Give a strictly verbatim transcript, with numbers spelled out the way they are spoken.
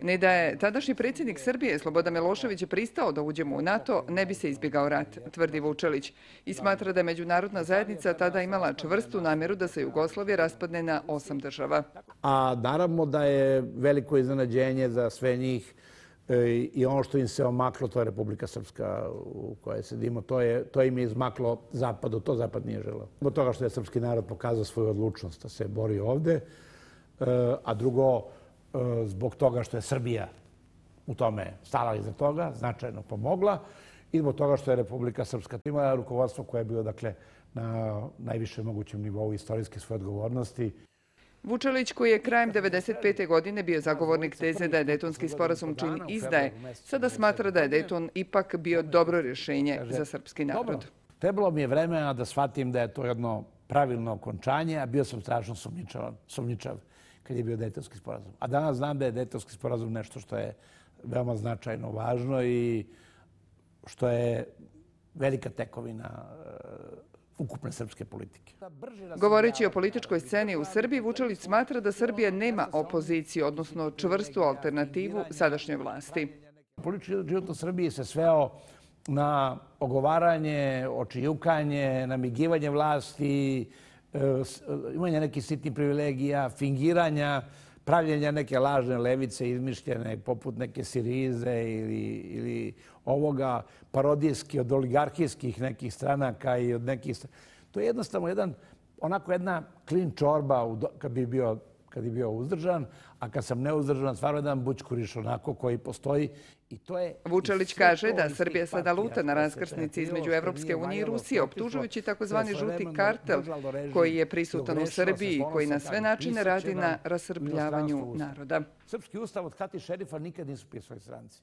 Ni da je tadašnji predsjednik Srbije Slobodan Milošević pristao da uđemo u NATO, ne bi se izbjegao rat, tvrdi Vučelić. I smatra da je međunarodna zajednica tada imala čvrstu namjeru da se Jugoslavija raspadne na osam država. A naravno da je veliko iznenađenje za sve njih i ono što im se omaklo, to je Republika Srpska u kojoj sedimo. To, je, to im je izmaklo Zapadu, to Zapad nije želeo. Zbog toga što je srpski narod pokazao svoju odlučnost da se bori ovde, a drugo, zbog toga što je Srbija u tome stala iza toga, značajno pomogla i zbog toga što je Republika Srpska imala rukovodstvo koje je bilo dakle, na najvišem mogućem nivou istorijske svoje odgovornosti. Vučelić, koji je krajem devedeset pete. godine bio zagovornik teze da je Dejtonski sporazum čin izdaje, sada smatra da je Dejton ipak bio dobro rješenje za srpski narod. Trebalo mi je vremena da shvatim da je to jedno pravilno okončanje, a bio sam strašno sumnjičav kad je bio Dejtonski sporazum. A danas znam da je Dejtonski sporazum nešto što je veoma značajno važno i što je velika tekovina ukupne srpske politike. Govoreći o političkoj sceni u Srbiji, Vučelić smatra da Srbija nema opoziciju, odnosno čvrstu alternativu sadašnjoj vlasti. Politički život u Srbiji se sveo na ogovaranje, očijukanje, namigivanje vlasti, imanje nekih sitnih privilegija, fingiranja, pravljenja neke lažne levice izmišljene poput neke Sirize ili, ili ovoga parodijski od oligarhijskih nekih stranaka i od nekih... To je jednostavno jedan, onako jedna klin čorba kad bi bio, kad bi bio uzdržan, a kad sam neuzdržan, stvarno jedan bućkuriš onako koji postoji. I to je... Vučelić kaže da Srbija sada luta na raskrsnici između Evropske unije i Rusije, optužujući takozvani žuti kartel koji je prisutan u Srbiji i koji na sve načine radi na rasrbljavanju naroda. Srpski ustav od Hati Šerifa nikad nisu pisali stranci.